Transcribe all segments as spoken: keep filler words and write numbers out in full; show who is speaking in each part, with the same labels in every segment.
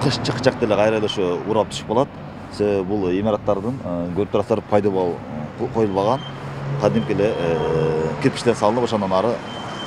Speaker 1: кыш чыкчак деле кайра эле ошо урап түшүп калат. Себеби бул имараттардын көрүп турасыздар пайдалуу коюлбаган кадимки эле кирпичтен салынып ошондон ары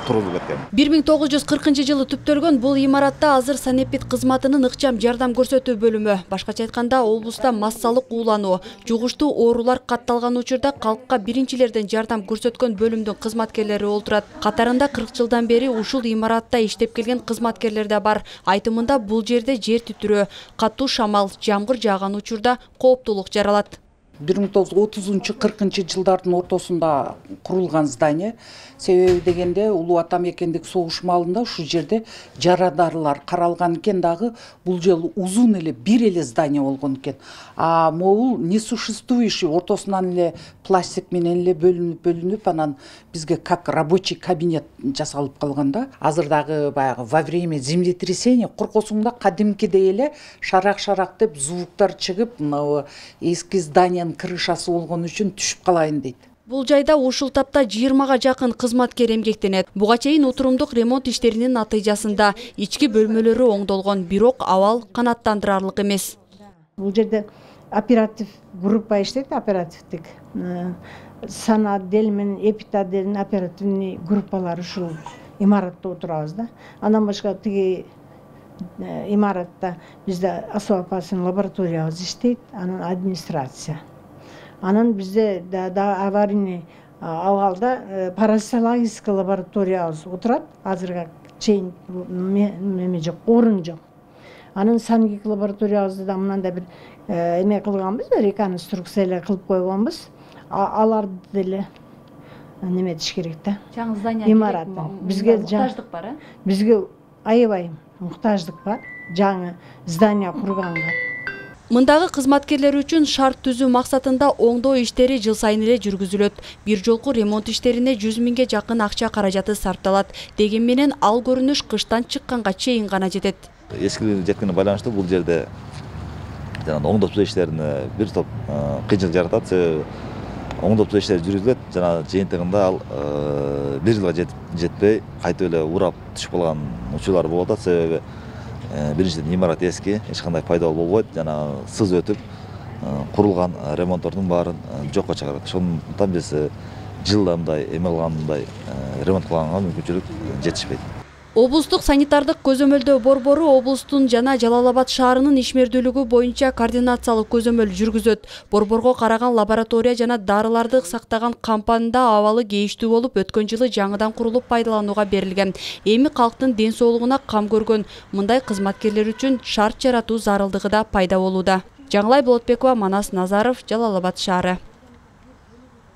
Speaker 1: тургузулуп кеткен.
Speaker 2: бир миң тогуз жүз кыркынчы жылы түптөлгөн бул имаратта азыр санэпид кызматынын ыкчам жардам көрсөтүү бөлүмү, башкача айтканда облуста массалык уулануу, жугуштуу оорулар катталган учурда калкка биринчилерден жардам көрсөткөн бөлүмдүн кызматкерлери олтурат. Катарында кырк жылдан бери ушул имаратта иштеп келген кызматкерлер да бар. Айтымында бул жерде жер титирөө, катуу шамал, жамгыр жааган учурда кооптулук жаралат.
Speaker 3: бир миң тогуз жүз отузунчу кыркынчы жылдардын ортосунда курулган здание. Себеби дегенде Улуу Ата мекендик согуш маалында ушул жерде жарадарлар каралган экен, дагы бул жолу узун эле бир эле здание болгон экен. А могул несуществующий ортосунан эле пластик менен эле бөлүнүп бөлүнүп анан бизге как рабочий кабинет жасалып калган да. Азыр дагы баягы во время землетрясения коркосуңда кадимкидей эле шарак-шарак деп звуктар чыгып, мына эски здание крышасы болгон үчүн түшүп калайын дейт.
Speaker 2: Бул жайда ушул тапта жыйырмага жакын кызматкер эмгектенет. Буга чейин отурумдук ремонт иштеринин натыйжасында ички бөлмөлөрү оңдолгон, бирок абал канааттандырарлык эмес.
Speaker 4: Бул жерде оператив группа иштейт, оперативдик. Санаотдел менен эпидотделдин оперативный группалары ушул имаратта отурабыз да. Андан башка тиги имаратта бизде особо опасный лабораториябыз иштейт, анан администрация. Анан бизде да аварийный абалда паразитологический лабораториябыз отурат. Азырга чейин эме жок, орун жок. Анан санитик лабораториябызды да мындай бир эме кылганбыз, реконструкция эле кылып койгонбуз. Аларды деле неме этиш керек да.
Speaker 2: Жаңы здание
Speaker 4: имарат. Бизге
Speaker 2: муктаждык бар, э?
Speaker 4: Бизге аябай муктаждык бар. Жаңы здание курганга.
Speaker 2: Мындагы кызматкерлер үчүн шарт түзүү максатында оңдоо иштери жыл сайын эле жүргүзүлөт. Бир жолку ремонт иштерине жүз миңге жакын акча каражаты сарпталат. Деген менен ал көрүнүш кыштан чыкканга чейин гана жетет.
Speaker 1: Эскилигине жеткенине байланыштуу бул жерде жана оңдоо түзөө иштерине бир топ кыйынчылык жаратат. Себеби оңдоо түзөө иштери жүргүзүлөт, жана жыйынтыгында ал бир жылга жетпей кайтып эле урап түшүп калган учурлар болуп атат. Себеби биринчиден имарат эски, эч кандай пайдалуу болбойт, жана сыз өтүп курулган ремонттордун баарын жокко чыгарат. Ошондуктан биз жылда мындай эме кылгандай ремонт кылганга мүмкүнчүлүк жетишпейт.
Speaker 2: Облустук санитардык көзөмөлдөө борбору облустун жана Жалал Абад шаарынын ишмердүүлүгү боюнча координациялык көзөмөл жүргүзөт. Борборго караган лаборатория жана дарыларды сактаган компанияда абалы кейиштүү болуп, өткөн жылы жаңыдан курулуп пайдаланууга берилген. Эми калктын ден соолугуна кам көргөн мындай кызматкерлер үчүн шарт жаратуу зарылдыгы да пайда болууда. Жаңылай Болотбекова, Манас Назаров, Жалал Абад шаары.